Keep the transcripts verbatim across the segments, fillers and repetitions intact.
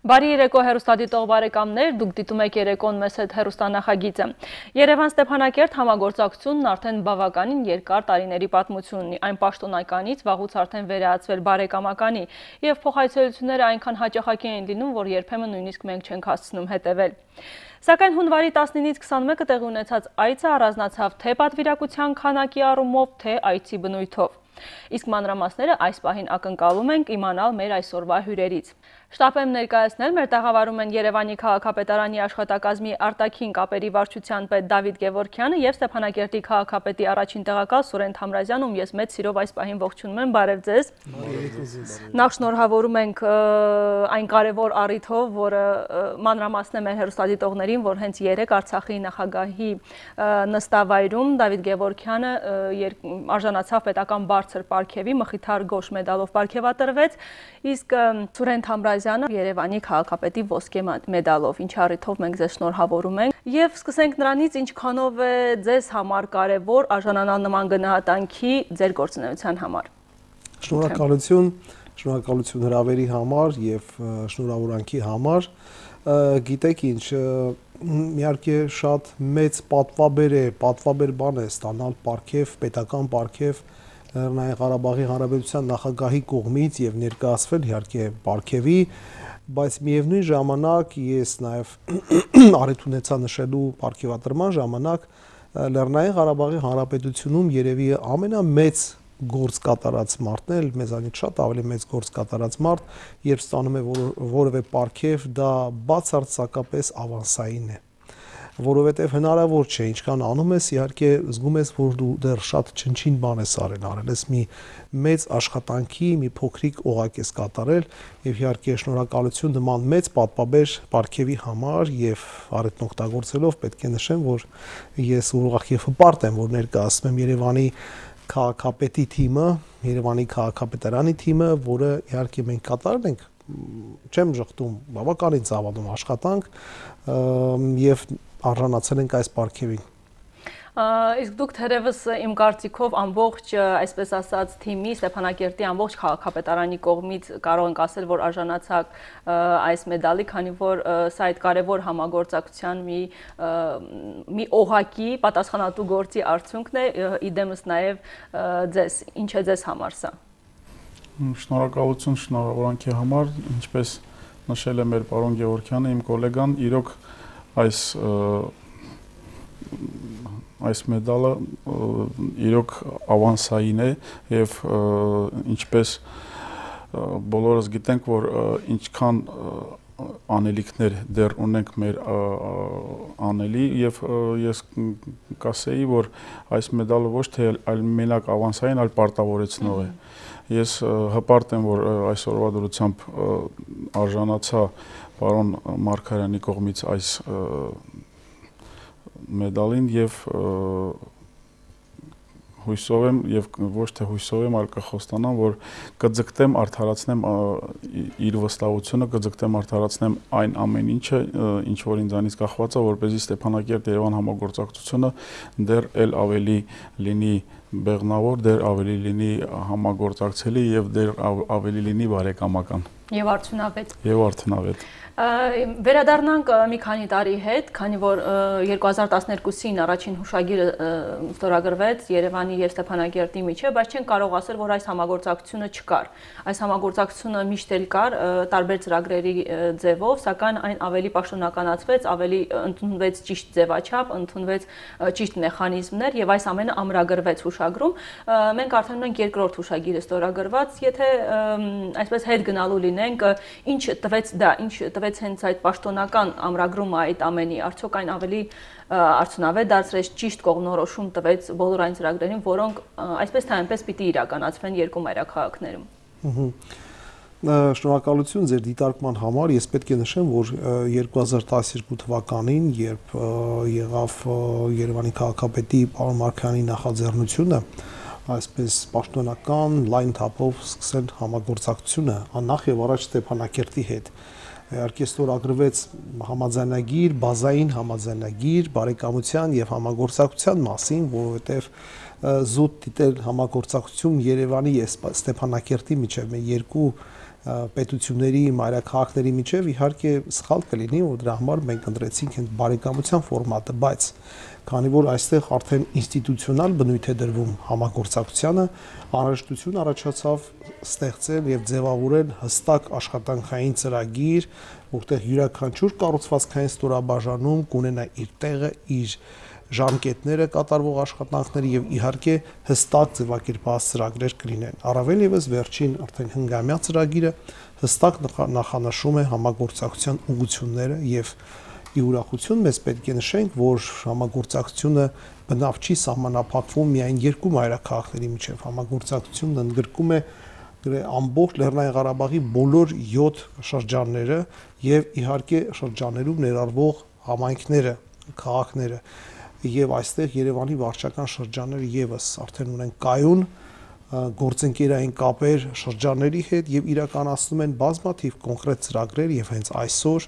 Բարի երեկո հեռուստադիտող բարեկամներ, դուք դիտում եք երեկոն մեզ հետ հեռուստանախագիծը։ Երևան Ստեփանակերտ համագործակցությունն արդեն բավականին երկար տարիների պատմություն ունի, այն պաշտոնականից վաղուց արդեն վերածվել բարեկամականի, եւ փոխայցելությունները այնքան հաճախակի են լինում, որ երբեմն նույնիսկ մենք չենք հասցնում հետևել։ Սակայն հունվարի տասնինից քսանմեկը տեղի ունեցած այցը առանձնացավ թե պատվիրակության քանակի առումով, թե այցի բնույթով։ Իսկ մանրամասները այս պահին ակնկալում ենք իմանալ մեր այսօրվա հյուրերից։ Շտապ եմ ներկայացնել, մեր տաղավարում են Երևանի քաղաքապետարանի աշխատակազմի արտաքին կապերի վարչության պետ Դավիթ Գևորգյանը եւ Ստեփանակերտի քաղաքապետի առաջին տեղակալ Սուրեն Թամրազյանը, ում ես մեծ սիրով այս պահին ողջունում եմ, բարև ձեզ։ Նախ շնորհավորում ենք այն կարևոր առիթով, որը մանրամասն է մեր հեռուստադիտողներին, որ հենց երեկ Արցախի նախագահի նստավայրում Դավիթ Գևորգյանը արժանացավ պետական բարձր պարգևի, մխիթար գոշ մեդալով պարգևատրվեց, իսկ Սուրեն Թամրազյանը Երևանի քաղաքապետի ոսկե մեդալով, ինչի առիթով մենք ձեզ շնորհավորում ենք եւ սկսենք նրանից, ինչքանով է ձեզ համար կարեւոր արժանանալ նման գնահատանքի ձեր գործունեության համար։ Շնորհակալություն, շնորհակալություն հրավերի համար եւ շնորհավորանքի համար։ Գիտեք ինչ, իհարկե շատ մեծ պատվաբեր է, պատվաբեր բան է ստանալ պարգև, պետական պարգև Լեռնային Ղարաբաղի Հանրապետության նախագահի կողմից եւ ներկայացվել իհարկե պարգևի, բայց միևնույն ժամանակ ես նաեւ առիթ ունեցա նշելու պարգևատրման ժամանակ Լեռնային Ղարաբաղի Հանրապետությունում երևի ամենամեծ գործ կատարած մարդն է, մեզանից շատ ավելի մեծ գործ կատարած մարդ, երբ ստանում է որևէ պարգև, դա բացարձակապես ավանսային է, որովհետև հնարավոր չէ, ինչքան անում ես, իհարկե զգում ես, որ դու դեռ շատ չնչին բան ես արել, արել ես մի մեծ աշխատանքի, մի փոքրիկ օղակ ես կատարել, եւ իհարկե շնորհակալություն նման մեծ պատվաբեր պարգևի համար եւ առիթն օգտագործելով պետք է նշեմ, որ ես ուրախ եւ հպարտ եմ, որ ներկայացնում եմ Երևանի քաղաքապետի թիմը, Երևանի քաղաքապետարանի թիմը, որը իհարկե մենք կատարել ենք, չեմ ժխտում, բավականին ծավալուն աշխատանք եւ արժանացել ենք այս պարգևին։ Իսկ դուք թերևս իմ կարծիքով ամբողջ, այսպես ասած, թիմի Ստեփանակերտի ամբողջ քաղաքապետարանի կողմից կարող ենք ասել, որ արժանացաք այս մեդալի, քանի որ սա այդ կարևոր համագործակցության մի մի օղակի պատասխանատու գործի արդյունքն է, իդեմս նաև ձեզ, ինչ է ձեզ համար սա։ Շնորհակալություն շնորհավորանքի համար, ինչպես նշել է մեր պարոն Գևորգյանը, իմ գոլեգան, իրոք այս այս մեդալը իրոք ավանսային է եւ ինչպես բոլորս գիտենք, որ ինչքան անելիքներ դեռ ունենք մեր անելի եւ ես կասեի, որ այս մեդալը ոչ թե այլ մենակ ավանսային, այլ պարտավորեցնող է։ Ես հպարտ եմ, որ այսօրվա դրությամբ արժանացա պարոն Մարգարյանի կողմից այս մեդալին եւ հույսով եմ եւ ոչ թե հույսով եմ, այլ կխոստանամ, որ կձգտեմ արդարացնեմ իր վստահությունը, կձգտեմ արդարացնեմ այն ամեն ինչը, ինչ որ ինձանից կախված է, որպեսզի Ստեփանակերտ-Երևան համագործակցությունը դեռ էլ ավելի լինի բեղնավոր, դեռ ավելի լինի համագործակցելի եւ դեռ ավելի լինի բարեկամական։ Եվ արդյունավետ։ Եվ արդյունավետ։ Վերադառնանք մի քանի տարի հետ, քանի որ երկու հազար տասներկուսին առաջին հուշագիրը ստորագրվեց Երևանի եւ Ստեփանակերտի միջեւ, բայց չեն կարող ասել, որ այս համագործակցությունը չկար։ Այս համագործակցությունը միշտ էլ կար տարբեր ծրագրերի ձևով, սակայն այն ավելի պաշտոնականացվեց, ավելի ընդունվեց ճիշտ ձևաչափ, ընդունվեց ճիշտ մեխանիզմներ եւ այս ամենը ամրագրվեց հուշագրում։ Մենք արդեն ունենք երկրորդ հուշագիրը ստորագրված, եթե այսպես հետ գնալու լինենք, ինչ տվեց դա, ինչ տվեց հենց այդ պաշտոնական ամրագրումը այդ ամենի, արդյոք այն ավելի արդյունավետ դարձրեց, ճիշտ կողմնորոշում տվեց բոլոր այն ծրագրերին, որոնք այսպես թե այնպես պիտի իրականացվեն երկու մայրաքաղաքներում։ Շնորհակալություն ձեր դիտարկման համար, ես պետք է նշեմ, որ երկու հազար տասներկու թվականին, երբ եղավ Երևանի քաղաքապետի պարոն Մարգարյանի նախաձեռնությունը, այսպես պաշտոնական լայն թափով սկսել համագործակցությունը նախ եւ առաջ Ստեփանակերտի հետ։ Իհարկե ստորագրվեց համաձայնագիր, բազային համաձայնագիր բարեկամության եւ համագործակցության մասին, որովհետեւ զուտ դիտել համագործակցություն Երևանի եւ Ստեփանակերտի միջեւ երկու պետությունների, մայրաքաղաքների միջև իհարկե սխալ կլինի, որ դրա համար մենք ընտրեցինք այն բարեկամության ֆորմատը, բայց քանի որ այստեղ արդեն ինստիտուցիոնալ բնույթ է դրվում համագործակցությանը, անհրաժեշտություն առաջացավ ստեղծել եւ ձևավորել հստակ աշխատանքային ծրագիր, որտեղ յուրաքանչյուր կառուցվածքային ստորաբաժանում կունենա իր տեղը, իր ժամկետները կատարվող աշխատանքները եւ իհարկե հստակ ձևակերպված ծրագրեր կլինեն։ Առավել եւս վերջին արդեն հնգամյա ծրագիրը հստակ նախանշում է համագործակցության ուղղությունները եւ ի ուրախություն մեզ պետք է նշենք, որ համագործակցությունը բնավ չի սահմանափակվում միայն երկու մայրաքաղաքների միջև, համագործակցությունն ընդգրկում է ամբողջ Լեռնային Ղարաբաղի բոլոր յոթ շրջանները եւ իհարկե շրջաններում ներառվող համայնքները, քաղաքները եւ այստեղ Երևանի վարչական շրջանները եւս արդեն ունեն կայուն գործընկերային կապեր շրջանների հետ եւ իրականացնում են բազմաթիվ կոնկրետ ծրագրեր եւ հենց այսօր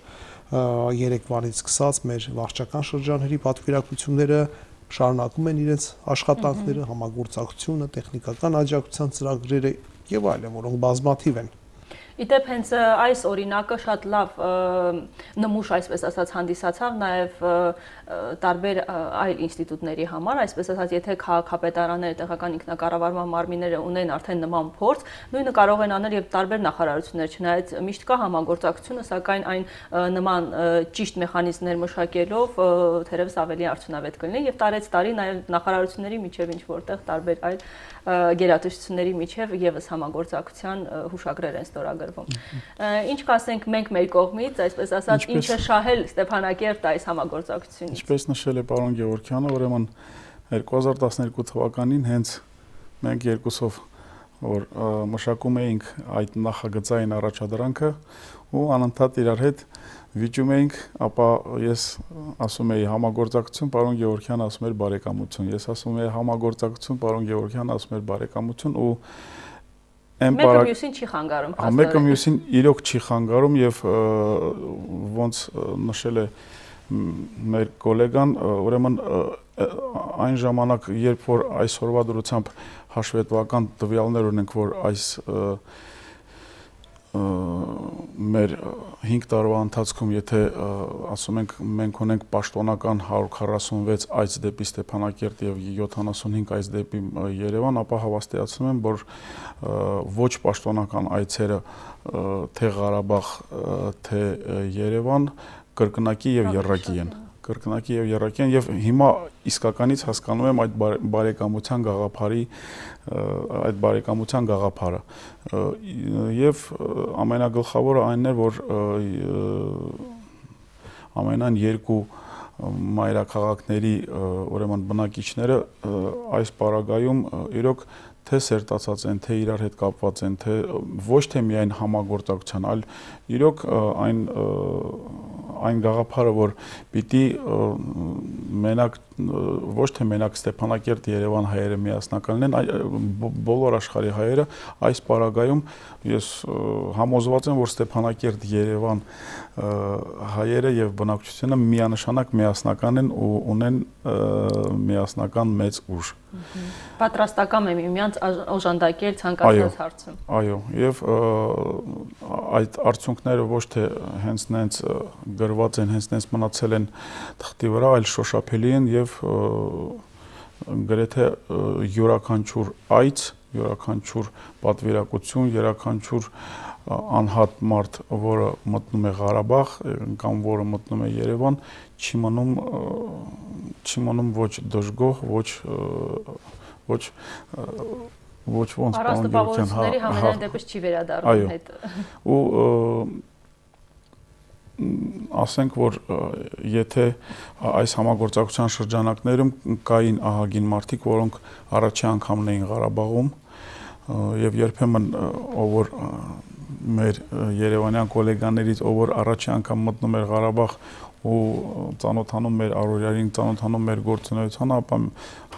երեկվանից սկսած մեր վարչական շրջանների պատվիրակությունները շարունակում են իրենց աշխատանքները, համագործակցությունը, տեխնիկական աջակցության ծրագրերը եւ այլն, որոնք բազմաթիվ են։ Իդեպ հենց այս օրինակը շատ լավ նմուշ, այսպես ասած, հանդիսացավ նաև տարբեր այլ ինստիտուտների համար, այսպես ասած, եթե քաղաքապետարանները, տեղական ինքնակառավարման մարմինները ունեն արդեն նման փորձ, նույնը կարող են անել եւ տարբեր նախարարություններ, չնայած միշտ կա համագործակցությունը, սակայն այն նման ճիշտ մեխանիզմներ մշակելով թերևս ավելի արդյունավետ կլինի եւ տարեց տարի նաև նախարարությունների միջև ինչ որտեղ տարբեր այլ գերատեսչությունների միջև եւս համագործակցության հուշագրեր են ստորագրվում։ Ինչ կասենք մենք մեր կողմից, այսպես ասած, ինչ է շահել Ստեփանակերտը այս համագործակցությունից։ Ինչպես նշել է պարոն Գևորգյանը, ուրեմն երկու հազար տասներկու թվականին հենց մենք երկուսով որ մշակում էինք այդ նախագծային առաջադրանքը ու անընդհատ իրար հետ վիճում էինք, ապա ես ասում էի համագործակցություն, պարոն Գևորգյանը ասում էր բարեկամություն, ես ասում էի համագործակցություն, պարոն Գևորգյանը ասում էր բարեկամություն ու մեկը մյուսին չի խանգարում։ Մեկը մյուսին իրոք չի խանգարում եւ ոնց նշել է մեր գոլեգան, ուրեմն այն ժամանակ, երբ որ այսօրվա դրությամբ հաշվետվական տվյալներ ունենք, որ այս մեր հինգ տարվա ընթացքում, եթե ասում ենք մենք ունենք պաշտոնական հարյուր քառասունվեց այց դեպի Ստեփանակերտ եւ յոթանասունհինգ այց դեպի Երևան, ապա հավաստիացնում եմ, որ ոչ պաշտոնական այցերը թե Ղարաբաղ, թե Երևան կրկնակի եւ եռակի են։ Կրկնակի եւ եռակի են եւ հիմա իսկականից հասկանում եմ այդ բարեկամության գաղափարի այդ բարեկամության գաղափարը եւ ամենագլխավորը այնն է, որ ամենայն երկու մայրաքաղաքների ուրեմն բնակիչները այս պարագայում իրոք թե սերտացած են, թե իրար հետ կապված են, թե ոչ թե միայն համագործակցության, այլ իրոք այն այն գաղափարը, որ պիտի մենակ ոչ թե մենակ Ստեփանակերտ Երևան հայերը միասնական լինեն, բոլոր աշխարհի հայերը այս պարագայում ես համոզված եմ, որ Ստեփանակերտ Երևան հայերը եւ բնակչությունը միանշանակ միասնական են ու ունեն միասնական մեծ ուժ։ Պատրաստական եմ միմյանց օժանդակել ցանկացած հարցում։ Այո, եւ այդ արդյունքները ոչ թե հենց նենց գրված են, հենց նենց մնացել են թղթի վրա, այլ շոշափելի են եւ գրեթե յուրաքանչյուր այց, յուրաքանչյուր պատվիրակություն, յուրաքանչյուր անհատ մարդ, որը մտնում է Ղարաբաղ կամ որը մտնում է Երևան, չի մնում չի մնում ոչ դժգոհ, ոչ ոչ ոչ ոնց պարոն Գևորգյան, համենայն դեպս չի վերադառնում հետ։ Ու ասենք, որ եթե այս համագործակցության շրջանակներում կային ահագին մարդիկ, որոնք առաջի անգամն էին Ղարաբաղում եւ երբեմն ով որ մեր երևանյան գոլեգաներից ով որ առաջի անգամ մտնում էր Ղարաբաղ ու ծանոթանում մեր առօրյային, ծանոթանում մեր գործունեությանը, ապա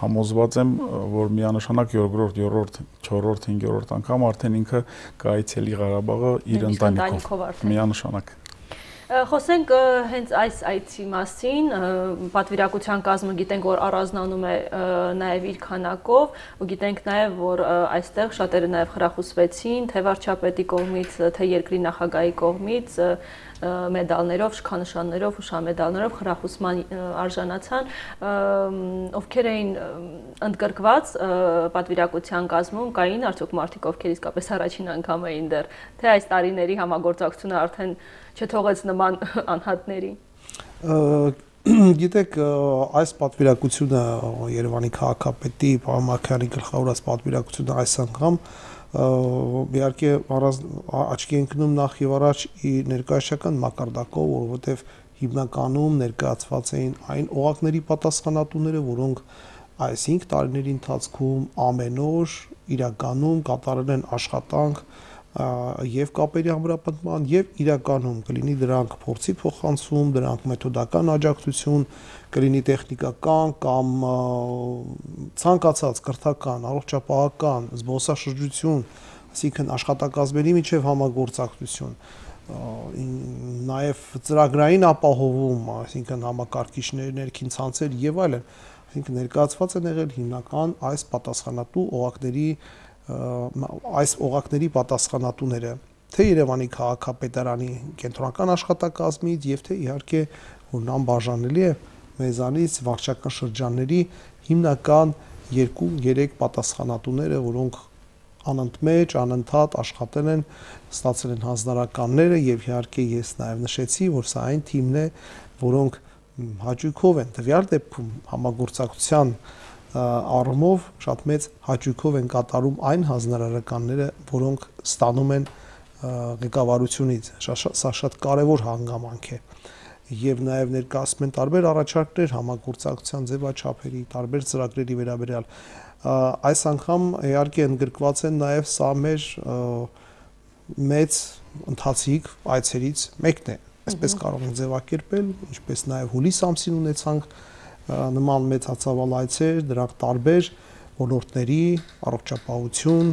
համոզված եմ, որ միանշանակ երկրորդ, երրորդ, չորրորդ, հինգերորդ անգամ արդեն ինքը կայցելի Ղարաբաղը իր ընտանիքով, միանշանակ։ Խոսենք հենց այս այցի մասին, պատվիրակության կազմը գիտենք, որ առանձնանում է նաև իր քանակով, ու գիտենք նաև, որ այստեղ շատերը նաև խրախուսվեցին, թե վարչապետի կողմից, թե երկրի նախագահի կողմից մեդալներով, շքանշաններով, հուշամեդալներով խրախուսման արժանացան, ովքեր էին ընդգրկված պատվիրակության կազմում, կային արդյոք մարդիկ, ովքեր իսկապես առաջին անգամ էին դեռ, թե այս տարիների համագործակցությունը արդեն չթողեց նման անհատների։ Գիտեք, այս պատվիրակությունը Երևանի քաղաքապետի պարոն Մարգարյանի գլխավորած պատվիրակությունը այս անգամ իհարկե աչքի ընկնում նախ եւ առաջ ներկայացական մակարդակով, որովհետեւ հիմնականում ներկայացված էին այն օղակների պատասխանատուները, որոնք այս հինգ տարիների ընթացքում ամեն օր իրականում կատարել են աշխատանք եւ կապերի ամրապնդման եւ իրականում կլինի դրանք փորձի փոխանցում, դրանք մեթոդական աջակցություն, կլինի տեխնիկական կամ ցանկացած կրթական, առողջապահական, զբոսաշրջություն, այսինքն աշխատակազմերի միջև համագործակցություն, նաեւ ծրագրային ապահովում, այսինքն համակարգիչներ, ներքին ցանցեր եւ այլն, այսինքն ներկայացված են եղել հիմնական այս պատասխանատու օղակների այս օղակների պատասխանատուները, թե Երևանի քաղաքապետարանի կենտրոնական աշխատակազմից եւ թե իհարկե որ անբաժանելի է մեզանից վարչական շրջանների հիմնական երկու-երեք պատասխանատուները, որոնք անընդմեջ, անընդհատ աշխատել են, ստացել են հանձնարարականները եւ իհարկե ես նաեւ նշեցի, որ սա այն թիմն է, որոնք հաճույքով են տվյալ դեպքում համագործակցության առումով շատ մեծ հաճույքով են կատարում այն հանձնարարականները, որոնք ստանում են ղեկավարությունից, սա շատ կարևոր հանգամանք է եւ նաեւ ներկայացում են տարբեր առաջարկներ համագործակցության ձևաչափերի, տարբեր ծրագրերի վերաբերյալ, այս անգամ իհարկե ընդգրկված են նաեւ սա մեր մեծ ընթացիկ այցերից մեկն է, այսպես կարող ենք ձևակերպել, ինչպես նաեւ հուլիս ամսին ունեցանք նման մեծ հացավալ այցեր, դրանք տարբեր ոլորտների, առողջապահություն,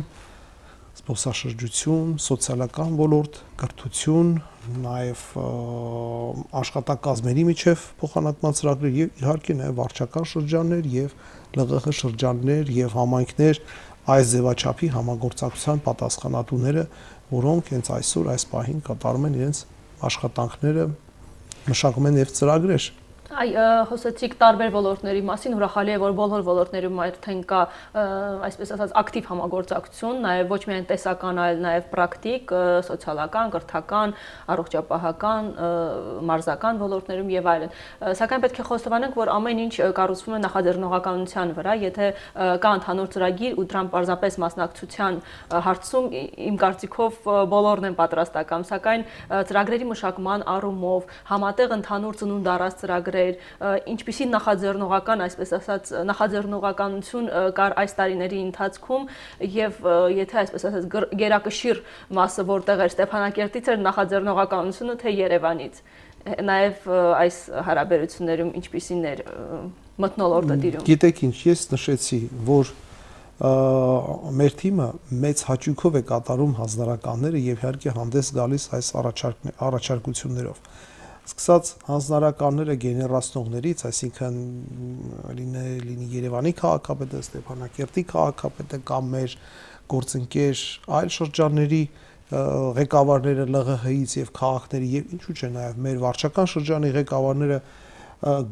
զբոսաշրջություն, սոցիալական ոլորտ, կրթություն, նաև աշխատակազմերի միջև փոխանակման ծրագրեր եւ իհարկե նաև վարչական շրջաններ եւ ԼՂՀ շրջաններ եւ համայնքներ այս ձևաչափի համագործակցության պատասխանատուները, որոնք հենց այսօր այս պահին կատարում են իրենց աշխատանքները, մշակում են եւ ծրագրեր։ Այ խոսեցիք տարբեր ոլորտների մասին, ուրախալի է, որ բոլոր ոլորտներում արդեն կա, այսպես ասած, ակտիվ համագործակցություն, նաև ոչ միայն տեսական, այլ նաև պրակտիկ, սոցիալական, կրթական, առողջապահական, մարզական ոլորտներում եւ այլն։ Սակայն պետք է խոստովանենք, որ ամեն ինչ կառուցվում է նախաձեռնողականության վրա, եթե կա ընդհանուր ծրագիր ու դրան պարզապես մասնակցության հարցում, իմ կարծիքով բոլորն են պատրաստական, սակայն ծրագրերի մշակման առումով համատեղ ընդհանուր ծնունդ առած ծրագրեր, ինչպիսի նախաձեռնողական, այսպես ասած, նախաձեռնողականություն կար այս տարիների ընթացքում եւ եթե այսպես ասած գերակշիռ մասը որտեղ էր Ստեփանակերտից էր նախաձեռնողականությունը, թե Երևանից, նաեւ այս հարաբերություններում ինչպիսին էր մթնոլորտը տիրում։ Գիտեք ինչ, ես նշեցի, որ մեր թիմը մեծ հաճույքով է կատարում հանձնարարականները եւ իհարկե հանդես գալիս այս առաջարկություններով։ Սկսած հանձնարարականները գեներացնողներից, այսինքն լինի Երևանի քաղաքապետը, Ստեփանակերտի քաղաքապետը կամ մեր գործընկեր այլ շրջանների ղեկավարները ԼՂՀ-ից եւ քաղաքների եւ ինչու՞ չէ նաեւ մեր վարչական շրջանի ղեկավարները,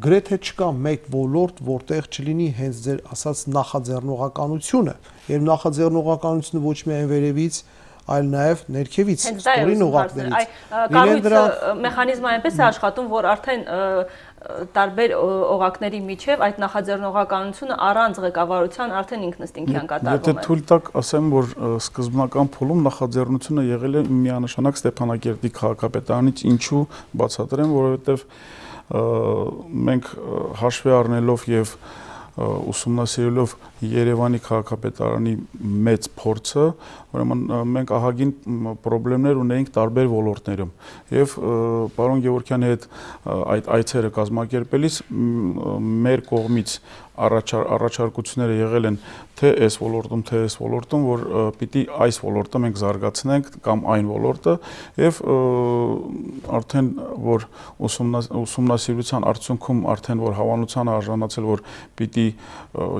գրեթե չկա մեկ ոլորտ, որտեղ չլինի հենց ձեր ասած նախաձեռնողականությունը, եւ նախաձեռնողականությունը ոչ միայն վերևից, այլ նաև ներքևից, ստորին օղակներից։ Կառույցը մեխանիզմը այնպես է աշխատում, որ արդեն տարբեր օղակների միջև այդ նախաձեռնողականությունը առանց ղեկավարության արդեն ինքնըստինքյան կատարվում է։ Եթե թույլ տաք, ասեմ, որ սկզբնական փուլում նախաձեռնությունը եղել է միանշանակ Ստեփանակերտի քաղաքապետարանից, ինչու բացատրեմ, որովհետև մենք հաշվի առնելով եւ ուսումնասիրելով Երևանի քաղաքապետարանի մեծ փորձը, ուրեմն մենք ահագին խնդիրներ ունեինք տարբեր ոլորտներում եւ պարոն Գևորգյանի հետ այդ այցերը կազմակերպելիս մեր կողմից առաջարկությունները եղել են թե այս ոլորտում, թե այս ոլորտում, որ պիտի այս ոլորտը մենք զարգացնենք կամ այն ոլորտը եւ արդեն որ ուսումնասիրության արդյունքում արդեն որ հավանության արժանացել, որ պիտի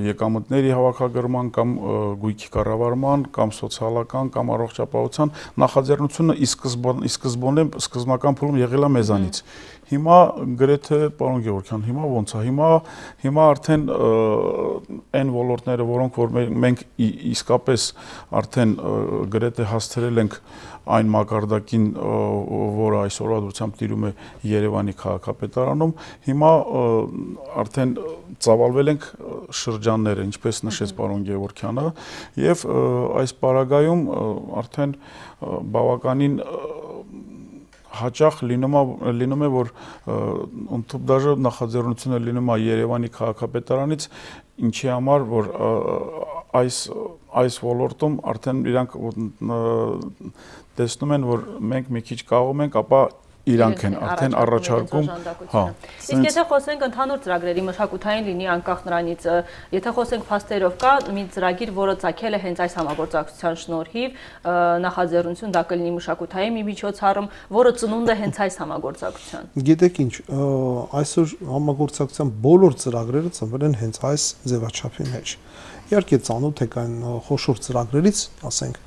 եկամուտների հավաքագրման կամ գույքի կառավարման կամ սոցիալական կամ առողջապահության նախաձեռնությունը ի սկզբանե սկզբնական փուլում եղել է մեզանից։ Հիմա գրեթե պարոն Գևորգյան, հիմա ոնց է, հիմա հիմա արդեն այն ոլորտները, որոնք որ մենք իսկապես արդեն գրեթե հասցրել ենք այն մակարդակին, որը այսօրվա դրությամբ տիրում է Երևանի քաղաքապետարանում, հիմա արդեն ծավալվել ենք շրջանները, ինչպես նշեց պարոն Գևորգյանը, եւ այս պարագայում արդեն բավականին հաճախ լինում է, որ ընդհանուր նախաձեռնությունը լինում է Երևանի քաղաքապետարանից, ինչի համար, որ այս այս ոլորտում արդեն իրանք տեսնում են, որ մենք մի քիչ կարողում ենք, ապա իրանք են արդեն առաջարկում, հա։ Իսկ եթե խոսենք ընդհանուր ծրագրերի մշակութային լինի անկախ նրանից, եթե խոսենք փաստերով կա մի ծրագիր, որը ծագել է հենց այս համագործակցության շնորհիվ, նախաձեռնություն դա կլինի մշակութային մի միջոցառում, որը ծնունդ է հենց այս համագործակցության։ Գիտեք ինչ, այսօր համագործակցության բոլոր ծրագրերը ծնվել են հենց այս ձևաչափի մեջ։ Իհարկե ծանոթ եք այն խոշոր ծրագրերից, ասենք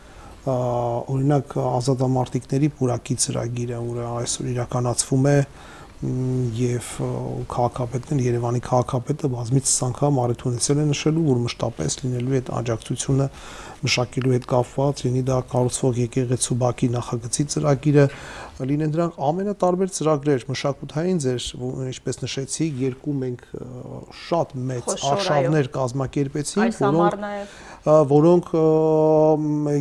օրինակ ազատամարտիկների պուրակի ծրագիրը, որը այսօր իրականացվում է եւ քաղաքապետն Երևանի քաղաքապետը բազմիցս անգամ առիթ է նշելու, որ մշտապես լինելու է այդ աջակցությունը մշակելու հետ կապված, լինի դա կառուցվող եկեղեցու բակի նախագծի ծրագիրը, լինեն դրանք ամենատարբեր ծրագրեր, մշակութային ձեր, ինչպես նշեցիք, երկու մենք շատ մեծ արշավներ կազմակերպեցինք, որոնք որոնք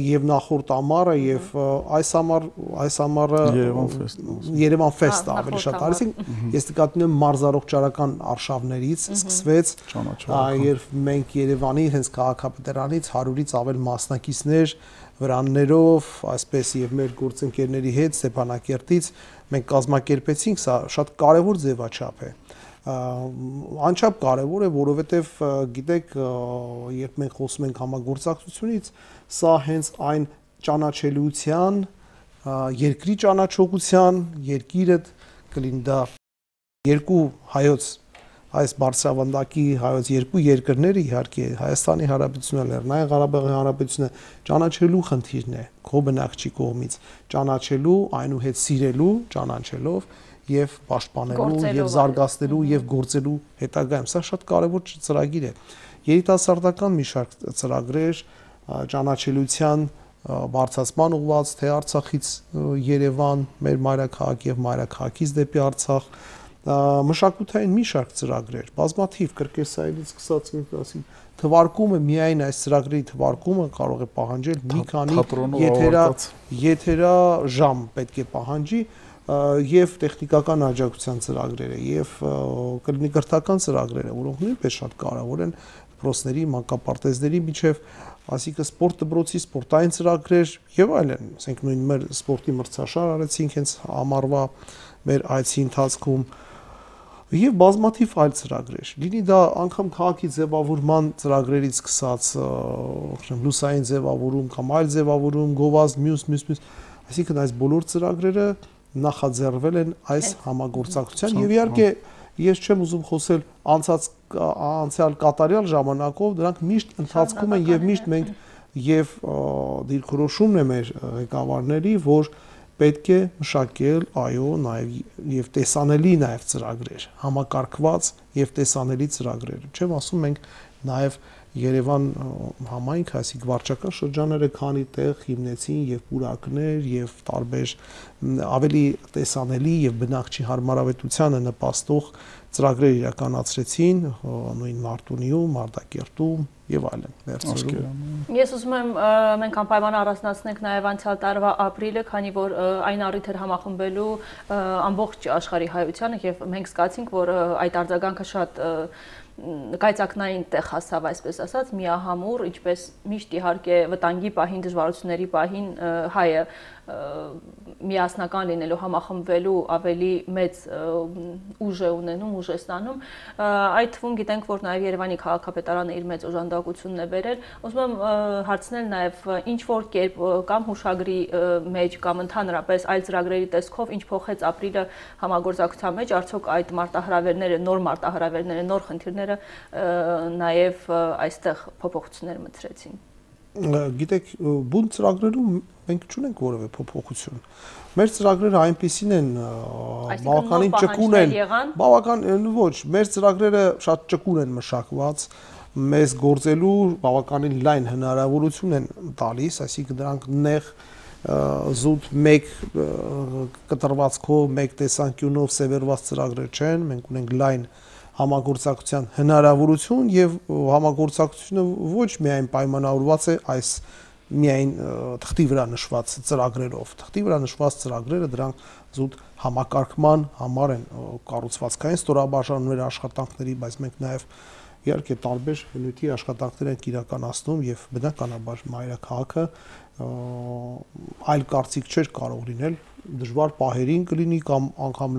եւ նախորդ ամառը եւ այս ամառ այս ամառը Երևան ֆեստ ավելի շատ արեցինք, ես նկատում եմ մարզարողջարական արշավներից սկսվեց, եւ մենք Երևանի հենց քաղաքապետարանից հարյուրից ավել մասնակիցներ վրաններով, այսպես եւ մեր գործընկերների հետ Ստեփանակերտից մենք կազմակերպեցինք, սա շատ կարեւոր ձևաչափ է։ Անչափ կարևոր է, որովհետև գիտեք, երբ մենք խոսում ենք համագործակցությունից, սա հենց այն ճանաչելիության, երկրի ճանաչողության, երկիրը կլինի դա երկու հայոց, այս բարձրավանդակի հայոց երկու երկրները, իհարկե Հայաստանի Հանրապետությունը, Լեռնային Ղարաբաղի Հանրապետությունը ճանաչելու խնդիրն է, քո բնակչի կողմից, ճանաչելու, այնուհետ սիրելու, ճանաչելով եւ պաշտպանելու եւ զարգացնելու եւ գործելու հետագայում սա շատ կարեւոր ծրագիր է երիտասարդական մի շարք ծրագրեր ճանաչելիության բարձրացման ուղղված թե Արցախից Երևան մեր մայրաքաղաք եւ մայրաքաղաքից դեպի Արցախ մշակութային մի շարք ծրագրեր բազմաթիվ կրկեսայինից սկսած ասին թվարկումը միայն այս ծրագրերի թվարկումը կարող է պահանջել մի քանի եթերա եթերա ժամ պետք է պահանջի եւ տեխնիկական աջակցության ծրագրերը եւ կլինի կրթական ծրագրերը, որոնք նույնպես շատ կարեւոր են դպրոցների, մանկապարտեզների միջև, այսինքն սպորտ դպրոցի սպորտային ծրագրեր եւ այլն, ասենք նույն մեր սպորտի մրցաշար արեցինք հենց ամառվա մեր այցի ընթացքում եւ բազմաթիվ այլ ծրագրեր։ Լինի դա անգամ քաղաքի ձևավորման ծրագրերից սկսած, օրինակ լուսային ձևավորում կամ այլ ձևավորում, գովազդ, մյուս, մյուս, մյուս, այսինքն այս բոլոր ծրագրերը նախաձեռնվել են այս համագործակցության եւ իհարկե ես չեմ ուզում խոսել անցած անցյալ կատարյալ ժամանակով դրանք միշտ ընթացքում են եւ միշտ մենք եւ դիրքորոշումն է մեր ղեկավարների որ պետք է մշակել այո նաեւ եւ տեսանելի նաեւ ծրագրեր համակարգված եւ տեսանելի ծրագրեր չեմ ասում մենք նաեւ Երևան համայնք, այսինքն վարչական շրջանները քանի տեղ հիմնեցին եւ պուրակներ եւ տարբեր ավելի տեսանելի եւ բնակչի հարմարավետությանը նպաստող ծրագրեր իրականացրեցին նույն Մարտունիում, Մարտակերտում եւ այլն վերցրում։ Ես ուզում եմ մենք անպայման առանձնացնենք նաեւ անցյալ տարվա ապրիլը, քանի որ այն առիթ էր համախմբելու ամբողջ աշխարհի հայությանը եւ մենք զգացինք, որ այդ արձագանքը շատ կայծակնային տեղ հասավ, այսպես ասած, միահամուռ, ինչպես միշտ իհարկե վտանգի պահին, դժվարությունների պահին հայը միասնական լինելու, համախմբվելու ավելի մեծ ուժ է ունենում, ուժ է ստանում, այդ թվում գիտենք, որ նաև Երևանի քաղաքապետարանը իր մեծ օժանդակությունն է բերել, ուզում եմ հարցնել նաև ինչ որ կերպ կամ հուշագրի մեջ կամ ընդհանրապես այլ ծրագրերի տեսքով ինչ փոխեց ապրիլը համագործակցության մեջ, արդյոք այդ մարտահրավերները, նոր մարտահրավերները, նոր խնդիրները նաև այստեղ փոփոխություններ մտցրեցին։ Գիտեք, բուն ծրագրերում մենք չունենք որևէ փոփոխություն։ Մեր ծրագրերը այնպիսին են, բավականին ճկուն են, բավական ոչ, մեր ծրագրերը շատ ճկուն են մշակված, մեզ գործելու բավականին լայն հնարավորություն են տալիս, այսինքն դրանք նեղ զուտ մեկ կտրվածքով, մեկ տեսանկյունով սևեռված ծրագրեր չեն, մենք ունենք լայն համագործակցության հնարավորություն եւ համագործակցությունը ոչ միայն պայմանավորված է այս միայն թղթի վրա նշված ծրագրերով։ Թղթի վրա նշված ծրագրերը դրանք զուտ համակարգման համար են կառուցվածքային ստորաբաժանումների աշխատանքների, բայց մենք նաեւ իհարկե տարբեր բնույթի աշխատանքներ ենք իրականացնում եւ բնականաբար մայրաքաղաքը այլ կարծիք չէր կարող լինել դժվար պահերին կլինի կամ անգամ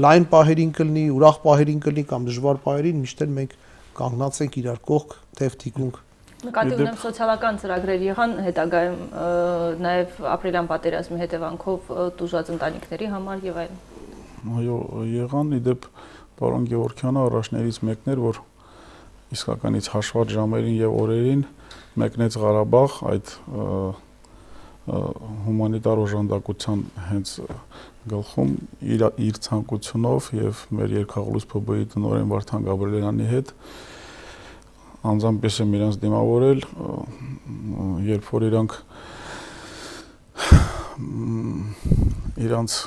լայն պահերին կլինի, ուրախ պահերին կլինի կամ դժվար պահերին միշտ էլ մենք կանգնած ենք իրար կողք, թեև թիկունք։ Նկատի ունեմ սոցիալական ծրագրեր եղան հետագայում նաև ապրիլյան պատերազմի հետևանքով տուժած ընտանիքների համար եւ այլն։ Այո, եղան, իդեպ պարոն Գևորգյանը առաջներից մեկն էր, որ իսկականից հաշված ժամերին եւ օրերին մեկնեց Ղարաբաղ այդ հումանիտար օժանդակության հենց գլխում իր իր ցանկությունով եւ մեր երկխաղալույս Փ B-ի տնօրեն Վարդան Գաբրիելյանի հետ անձամբ ես եմ իրանց դիմավորել, երբ որ իրանք իրանց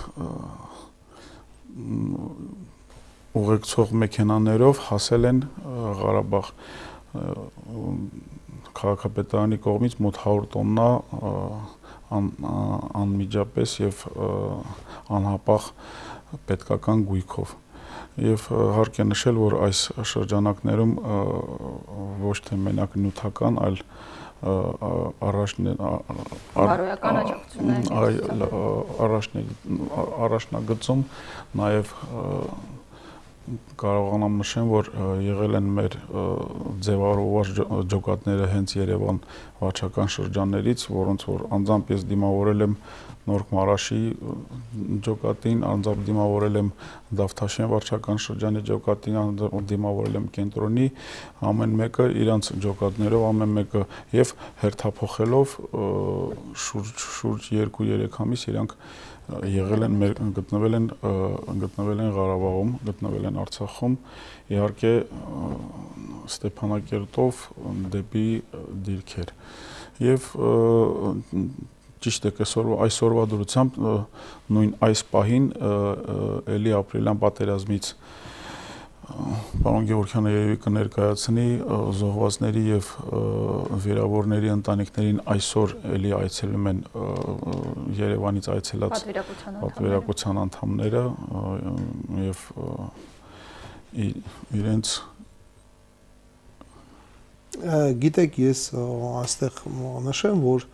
ուղեկցող մեքենաներով հասել են Ղարաբաղ քաղաքապետարանի կողմից մոտ հարյուր տոննա անմիջապես եւ անհապաղ պետքական գույքով եւ հարկ է նշել, որ այս շրջանակներում ոչ թե մենակ նյութական, այլ առաջնագծում նաեւ կարողանամ նշեմ, որ եղել են մեր ձևավորված ջոկատները հենց Երևան վարչական շրջաններից, որոնց որ անձամբ ես դիմավորել եմ Նորք Մարաշի ջոկատին, անձամբ դիմավորել եմ Դավթաշեն վարչական շրջանի ջոկատին, անձամբ դիմավորել եմ կենտրոնի, ամեն մեկը իրանց ջոկատներով, ամեն մեկը եւ հերթափոխելով շուրջ երկու-երեք ամիս իրանք եղել են գտնվել են գտնվել են Ղարաբաղում, գտնվել են Արցախում, իհարկե Ստեփանակերտով դեպի դիրքեր։ Եվ ճիշտ է, այսօրվա դրությամբ նույն այս պահին էլի ապրիլյան պատերազմից պարոն Գևորգյանը երևի կներկայացնի զոհվածների եւ վիրավորների ընտանիքներին այսօր էլի այցելում են Երևանից այցելած պատվիրակության անդամները եւ իրենց գիտեք, ես այստեղ նշեմ, որ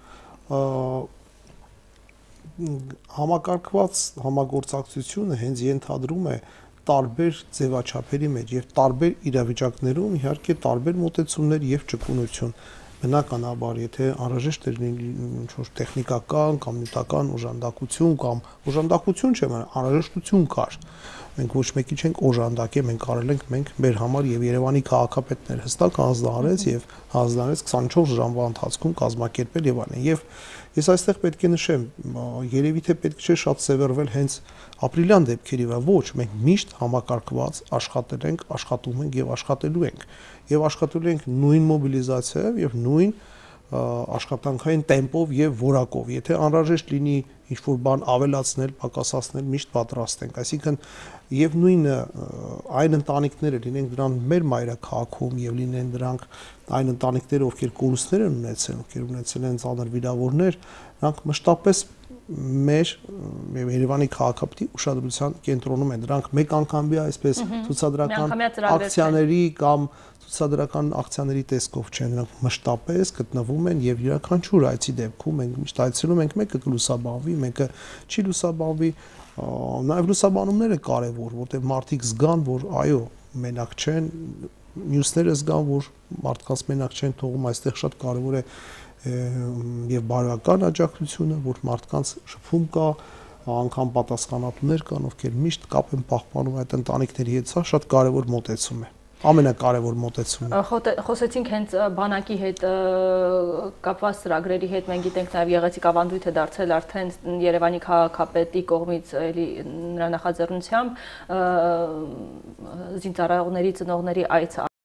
համակարգված համագործակցությունը հենց ենթադրում է տարբեր ձևաչափերի մեջ եւ տարբեր իրավիճակներում իհարկե տարբեր մոտեցումներ եւ ճկունություն բնականաբար եթե անհրաժեշտ է ինչ-որ տեխնիկական կամ նյութական օժանդակություն կամ օժանդակություն չէ, անհրաժեշտություն կար մենք ոչ մեկի չենք օժանդակել, մենք արել ենք մենք մեր համար եւ Երևանի քաղաքապետներ հստակ հանձնարարեց եւ հանձնարարեց քսանչորս ժամվա ընթացքում կազմակերպել եւ այլն եւ ես այստեղ պետք է նշեմ, երևի թե պետք չէ շատ սևեռվել հենց ապրիլյան դեպքերի վրա, ոչ, մենք միշտ համակարգված աշխատել ենք, աշխատում ենք եւ աշխատելու ենք եւ աշխատելու ենք նույն մոբիլիզացիայով եւ նույն աշխատանքային տեմպով եւ որակով, եթե անհրաժեշտ լինի ինչ-որ բան ավելացնել, պակասացնել, միշտ պատրաստ ենք, այսինքն եւ նույնը այն ընտանիքները լինեն դրան մեր մայրաքաղաքում եւ լինեն դրանք այն ընտանիքները, ովքեր կորուստներ են ունեցել, ովքեր ունեցել են ծանր վիրավորներ, նրանք մշտապես մեր Երևանի քաղաքապետի ուշադրության կենտրոնում են։ Դրանք մեկ անգամի այսպես ցուցադրական ակցիաների կամ ցուցադրական ակցիաների տեսքով չեն, նրանք մշտապես գտնվում են եւ յուրաքանչյուր այցի դեպքում մենք միշտ այցելում ենք, մեկը կլուսաբանվի, մեկը չի լուսաբանվի, նաեւ լուսաբանումները կարեւոր, որտեղ մարդիկ զգան, որ այո, մենակ չեն, մյուսները զգան, որ մարդկանց մենակ չեն թողում, այստեղ շատ կարեւոր է եւ բարոյական աջակցությունը, որ մարդկանց շփում կա, անգամ պատասխանատուներ կան, ովքեր միշտ կապ են պահպանում այդ ընտանիքների հետ, սա շատ կարեւոր մոտեցում է։ Ամենակարևոր մոտեցումը։ Խոսեցինք հենց բանակի հետ կապված ծրագրերի հետ, մենք գիտենք նաև Եղեցիկ ավանդույթ է դարձել արդեն Երևանի քաղաքապետի կողմից էլի նրա նախաձեռնությամբ զինծառայողների ծնողների այց